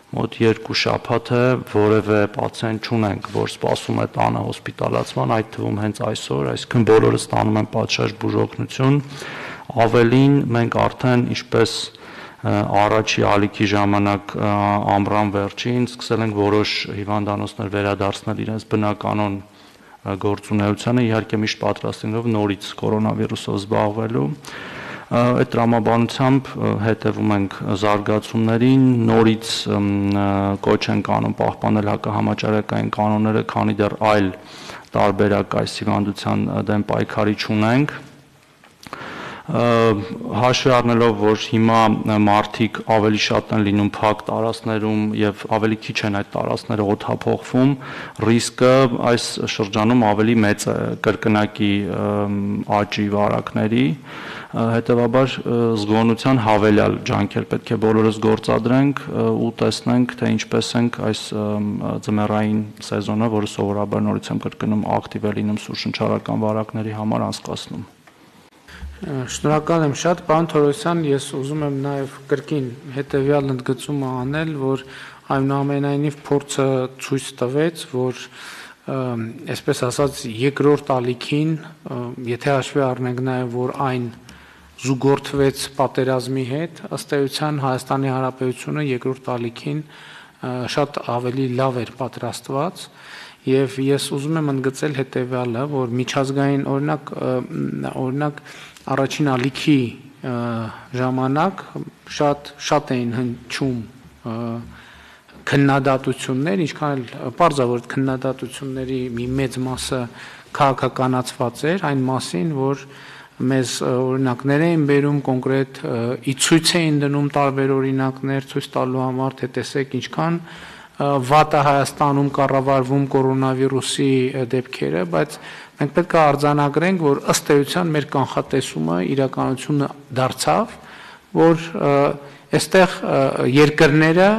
մոտ երկու շաբաթ է որևէ պացիենտ չունենք, որ սպասում է տանը հոսպիտալացման, այդ թվում հենց այսօր, այսինքն բոլորը ստանում են պատշաճ բուժօգնություն, ավելին մենք արդեն ինչպես առաջի ալիքի ժամանակ ամռան վերջին սկսել ենք որոշ հիվանդանոցներ վերադարձնել իրենց բնականոն գործունեությանը, իհարկե միշտ պատրաստ լինելով նորից կորոնավիրուսով զբաղվելու։ Այդ տրամաբանությամբ հետևում ենք զարգացումներին, նորից կոչ ենք անում պահպանել հակահամաճարակային կանոնները, քանի դեռ այլ տարբերակ այս հիվանդության դեմ պայքարի չունենք։ Հաշվի առնելով, որ հիմա մարդիկ ավելի շատ են լինում փակ տարածքներում եւ ավելի քիչ են այդ տարածքները օդափոխվում, ռիսկը այս շրջանում ավելի մեծ է կրկնակի աճի վարակների, հետեւաբար զգոնության հավելյալ ջանքեր պետք է բոլորս գործադրենք ու տեսնենք, թե ինչպես ենք այս ձմեռային սեզոնը, որը սովորաբար նորից եմ կրկնում ակտիվ է լինում սուրշնչարական վարակների համար անցկացնում։ Շնորհակալ եմ շատ, պարոն Թորոսյան, ես ուզում եմ նաև կրկին հետևյալ ընդգծումը անել, որ այնուամենայնիվ փորձը ցույց տվեց, որ այսպես ասած երկրորդ ալիքին, եթե հաշվի առնենք նաև, որ այն զուգորդվեց պատերազմի հետ, ըստ էության Հայաստանի Հանրապետությունը երկրորդ ալիքին շատ ավելի լավ էր պատրաստված եւ ես ուզում եմ ընդգծել հետեւյալը, որ միջազգային օրինակ օրինակ առաջին ալիքի ժամանակ շատ շատ էին հնչում քննադատություններ, ինչքան էլ պարզավոր քննադատությունների մի մեծ մասը քաղաքականացված էր այն մասին, որ մեզ օրինակներ էին բերում կոնկրետ ի ցույց էին դնում տարբեր օրինակներ ցույց տալու համար, թե տեսեք ինչքան վատ է Հայաստանում կառավարվում կորոնավիրուսի դեպքերը, բայց մենք պետք է արձանագրենք, որ ըստ էության մեր կանխատեսումը իրականությունը դարձավ, որ այստեղ երկրները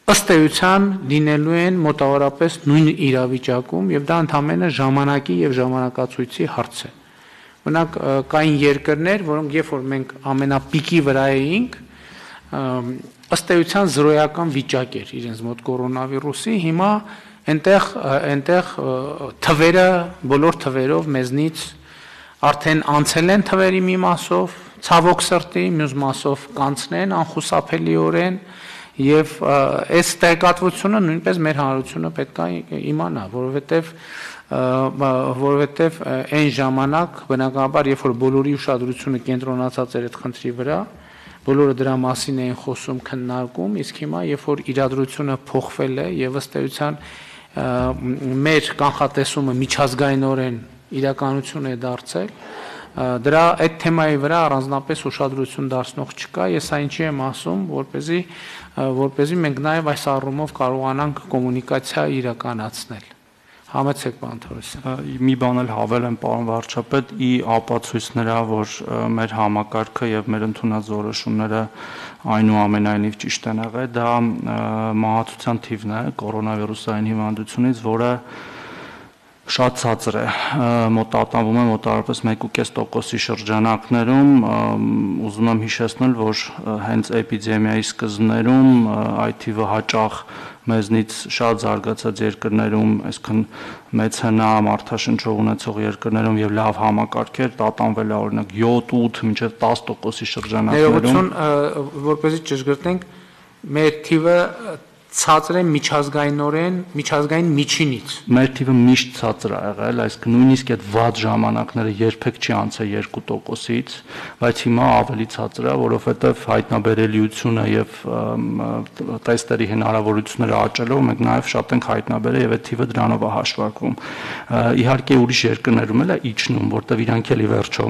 ըստ էության լինելու են մոտավորապես նույն իրավիճակում եւ դա ընդհանրապես ժամանակի եւ ժամանակացույցի հարց է։ Օրինակ կային երկրներ, որոնք երբ որ մենք ամենապիկի վրա էինք, ըստ էության զրոյական վիճակ էր իրենց մոտ կորոնավիրուսի, հիմա այնտեղ այնտեղ թվերը բոլոր թվերով մեզնից արդեն անցել են թվերի մի մասով, ցավոք սրտի, մյուս մասով կանցնեն անխուսափելիորեն եւ այս տեղեկատվությունը նույնպես մեր հանրությունը պետք է իմանա, որովհետեւ որովհետեւ այն ժամանակ բնականաբար երբ որ բոլորի ուշադրությունը կենտրոնացած էր այդ խնդրի վրա, բոլորը դրա մասին էին խոսում, քննարկում, իսկ հիմա երբ որ իրադրությունը փոխվել է եւ ըստ էության մեր կանխատեսումը միջազգայինորեն իրականություն է դարձել, դրա այդ թեմայի վրա առանձնապես ուշադրություն դարձնող չկա, ես այն չի եմ ասում, որպեսզի որպեսզի մենք նաեւ այս առումով կարողանանք կոմունիկացիա իրականացնել։ Համեցեք պարոն Թորոսյան։ Մի բան էլ հավել եմ պարոն վարչապետ, ի ապացույց նրա, որ մեր համակարգը եւ մեր ընդունած որոշումները այնուամենայնիվ ճիշտ են եղել, դա մահացության թիվն է կորոնավիրուսային հիվանդությունից, որը շատ ցածր է, մոտավորվում է մոտավորապես մեկ ու կես տոկոսի շրջանակներում, ուզում եմ հիշեցնել, որ հենց էպիդեմիայի սկզբներում այդ թիվը հաճախ մեզնից շատ զարգացած երկրներում, այսքան մեծ հնա մարդաշնչող ունեցող երկրներում եւ լավ համակարգեր տատանվել է օրինակ յոթ ութ մինչեւ տաս տոկոսի շրջանակներում։ Ներողություն, որպեսզի ճշգրտենք, մեր թիվը ցածր է միջազգայինորեն, միջազգային միջինից։ Մեր թիվը միշտ ցածր է եղել, այսինքն նույնիսկ այդ վատ ժամանակները երբեք չի անցել երկու տոկոսից, բայց հիմա ավելի ցածր է, որովհետև հայտնաբերելիությունը եւ տեստերի հնարավորությունները աճելով մենք նաեւ շատ ենք հայտնաբերել եւ այդ թիվը դրանով է հաշվարկվում։ Իհարկե ուրիշ երկրներում էլ է իջնում, որտեղ իրանք էլի վերջո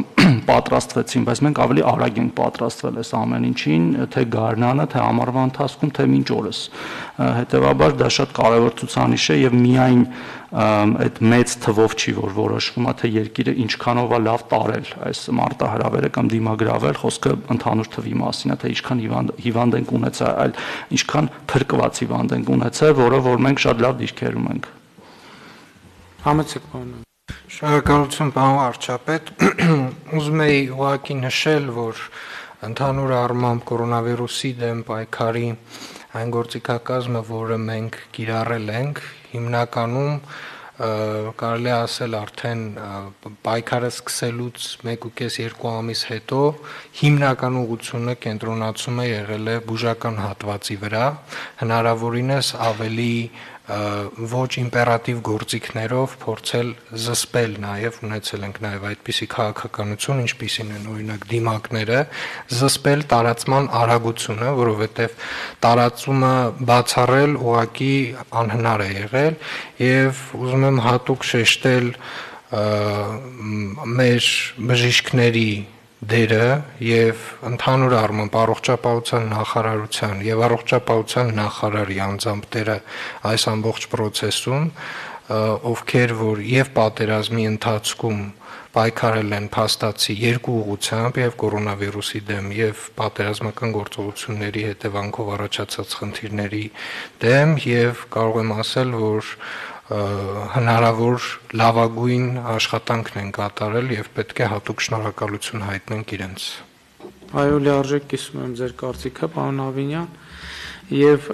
պատրաստվեցին, բայց մենք ավելի արագ ենք պատրաստվել այս ամեն ինչին, թե գարնանը, թե ամառվա ընթացքում, թե մինչ օրս։ Հետևաբար դա շատ կարևոր ցուցանիշ է եւ միայն այդ մեծ թվով չի որ որոշվում է թե երկիրը ինչքանով է լավ տարել այս մարտահրավերը կամ դիմագրավել, խոսքը ընդհանուր թվի մասին է, թե ինչքան հիվանդ հիվանդ ենք ունեցել, այլ ինչքան փրկված հիվանդ ենք ունեցել, որը որ մենք շատ լավ դիրքերում ենք։ Համեցեք պարոն։ Շնորհակալություն պարոն վարչապետ։ Ուզում եի ուղղակի նշել, որ ընդհանուր առմամբ կորոնավիրուսի դեմ պայքարի այն գործիքակազմը, որը մենք կիրառել ենք, հիմնականում կարելի է ասել արդեն պայքարը սկսելուց մեկ ու կես երկու ամիս հետո հիմնական ուղղությունը կենտրոնացում է եղել է բուժական հատվածի վրա, հնարավորինս ավելի ոչ իմպերատիվ գործիքներով փորձել զսպել նաև ունեցել ենք նաև այդպիսի քաղաքականություն, ինչպիսին են օրինակ դիմակները, զսպել տարածման արագությունը, որովհետև տարածումը բացառել ուղղակի անհնար է եղել եւ ուզում եմ հատուկ շեշտել մեր բժիշկների դերը եւ ընդհանուր առմամբ առողջապահության նախարարության եւ առողջապահության նախարարի անձամբ դերը այս ամբողջ process-ում, ովքեր որ եւ պատերազմի ընթացքում պայքարել են փաստացի երկու ուղղությամբ եւ կորոնավիրուսի դեմ եւ պատերազմական գործողությունների հետևանքով առաջացած խնդիրների դեմ եւ կարող եմ ասել, որ հնարավոր լավագույն աշխատանքն են կատարել եւ պետք է հատուկ շնորհակալություն հայտնենք իրենց։ Այո, լիարժեք կիսում եմ ձեր կարծիքը, պարոն Ավինյան, եւ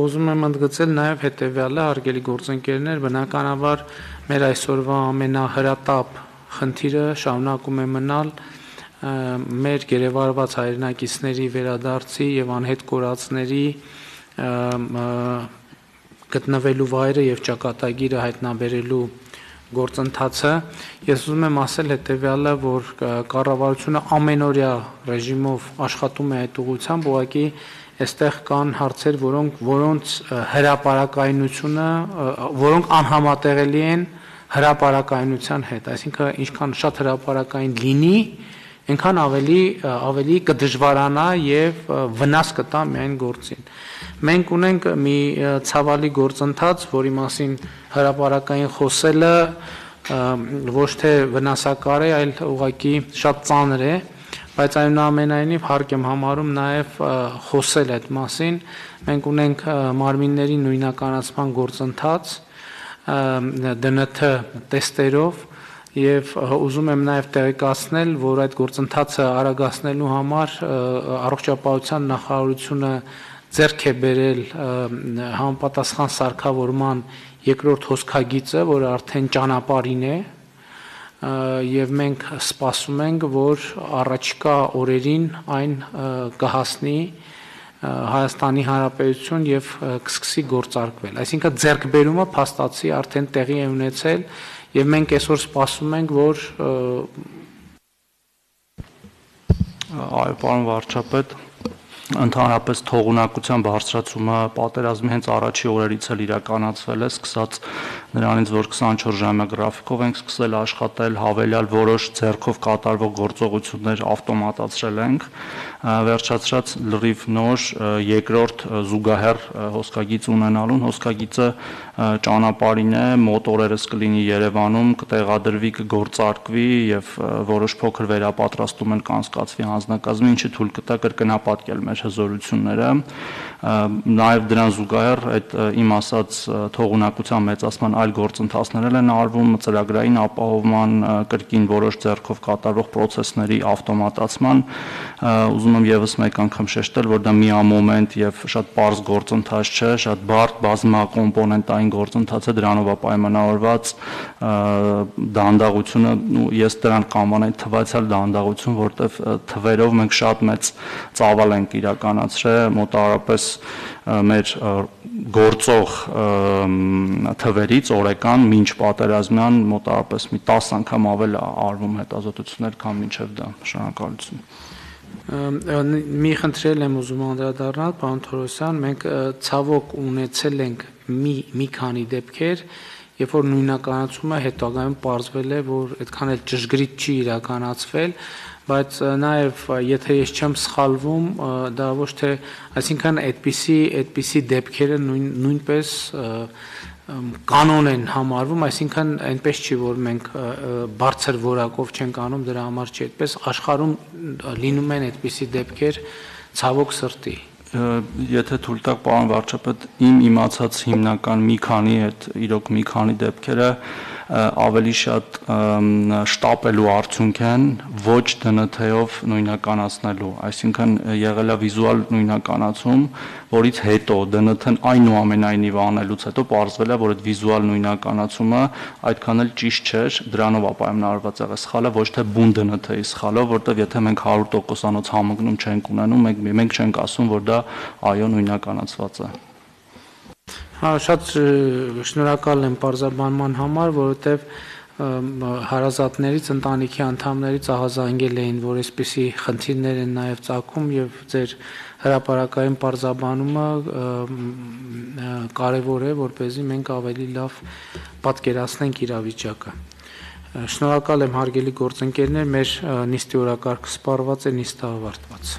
ուզում եմ ընդգծել նաեւ հետեւյալը, հարգելի գործընկերներ, բնականաբար մեր այսօրվա ամենահրատապ խնդիրը շարունակում է մնալ մեր գերեվարված հայրենակիցների վերադարձի եւ անհետ կորածների գտնվելու վայրը եւ ճակատագիրը հայտնաբերելու գործընթացը, ես ուզում եմ ասել հետեւյալը, որ կառավարությունը ամենօրյա ռեժիմով աշխատում է այդ ուղղությամբ, ուղղակի այստեղ կան հարցեր, որոնք որոնց հրապարակայնությունը, որոնք անհամատեղելի են հրապարակայնության հետ, այսինքն ինչքան շատ հրապարակային լինի, այնքան ավելի ավելի կդժվարանա եւ վնաս կտա միայն գործին։ Մենք ունենք մի ցավալի գործընթաց, որի մասին հրապարակային խոսելը ոչ թե վնասակար է, այլ ուղղակի շատ ծանր է, բայց այնուամենայնիվ հարկ եմ համարում նաև խոսել այդ մասին։ Մենք ունենք մարմինների նույնականացման գործընթաց դե են թ տեստերով եւ ուզում եմ նաև տեղեկացնել, որ այդ գործընթացը արագացնելու համար առողջապահության նախարարությունը ձեռք է բերել համապատասխան սարքավորման երկրորդ հոսքագիծը, որը արդեն ճանապարհին է, եւ մենք սպասում ենք, որ առաջիկա օրերին այն կհասնի Հայաստանի Հանրապետություն եւ կսկսի գործարկվել։ Այսինքն ձեռքբերումը փաստացի արդեն տեղի է ունեցել եւ մենք այսօր սպասում ենք, որ այո, պարոն վարչապետ, ընդհանրապես թողունակության բարձրացումը պատերազմի հենց առաջի օրերից էլ իրականացվել է, սկսած նրանից, որ քսանչորս ժամյա գրաֆիկով ենք սկսել աշխատել, հավելյալ որոշ ձեռքով կատարվող գործողություններ ավտոմատացրել ենք, վերջացրած լրիվ նոր երկրորդ զուգահեռ հոսքագիծ ունենալուն, հոսքագիծը ճանապարհին է, մոտորերս կլինի Երևանում, կտեղադրվի, կգործարկվի եւ որոշ փոքր վերապատրաստում էլ կանցկացվի հանձնակազմի, ինչը թույլ կտա կրկնապատկել մեր հզորությունները, նաև դրան զուգահեռ այդ իմ ասած թողունակության մեծացման այլ գործընթացներ են արվում, ծրագրային ապահովման, կրկին որոշ ձեռքով կատարվող process-ների ավտոմատացման, ուզում եմ եւս մեկ անգամ շեշտել, որ դա միամոմենտ եւ շատ པարզ գործընթաց չէ, շատ բարդ բազմակոմպոնենտային գործընթաց է, դրանով է պայմանավորված դանդաղությունը, ես դրան կանվանեի թվացial դանդաղություն, որտեվ թվերով մենք շատ մեծ ծավալ ենք իրականացրել, մոտավորապես մեր գործող թվերից օրական մինչ պատերազմյան մոտավորապես մի տասը անգամ ավել արվում հետազոտություններ, քան մինչև դա։ Շնորհակալություն։ Մի խնդրել եմ ուզում անդրադառնալ, պարոն Թորոսյան, մենք ցավոք ունեցել ենք մի մի քանի դեպքեր, երբ որ նույնականացումը հետագայում պարզվել է, որ այդքան էլ ճշգրիտ չի իրականացվել, բայց նաև եթե ես չեմ սխալվում, դա ոչ թե, այսինքն այդպիսի այդպիսի դեպքերը նույն նույնպես կանոն են համարվում, այսինքն այնպես չի, որ մենք բարձր որակով չենք անում, դրա համար չի այդպես, աշխարհում լինում են այդպիսի դեպքեր ցավոք սրտի։ Եթե թույլ տաք, պարոն վարչապետ, իմ իմացած հիմնական մի քանի այդ իրոք մի քանի դեպքերը ավելի շատ շտապելու արդյունք են, ոչ դե են թ-ով նույնականացնելու, այսինքն եղել է վիզուալ նույնականացում, որից հետո դե են թ-ն այնուամենայնիվ անելուց հետո պարզվել է, որ այդ վիզուալ նույնականացումը այդքան էլ ճիշտ չէր, դրանով է պայմանավորված եղել սխալը, ոչ թե բուն դե են թ-ի սխալով, որտեղ եթե մենք հարյուր տոկոսանոց համընկնում չենք ունենում, մենք մենք չենք ասում, որ դա այո նույնականացված է։ Հա, շատ շնորհակալ եմ պարզաբանման համար, որովհետև հարազատներից, ընտանիքի անդամներից ահազանգել էին, որ այսպիսի խնդիրներ են նաև ծագում եւ ձեր հրապարակային պարզաբանումը կարևոր է, որպեսզի մենք ավելի լավ պատկերացնենք իրավիճակը։ Շնորհակալ եմ հարգելի գործընկերներ, մեր նիստի օրակարգը սպառված է, նիստը ավարտված։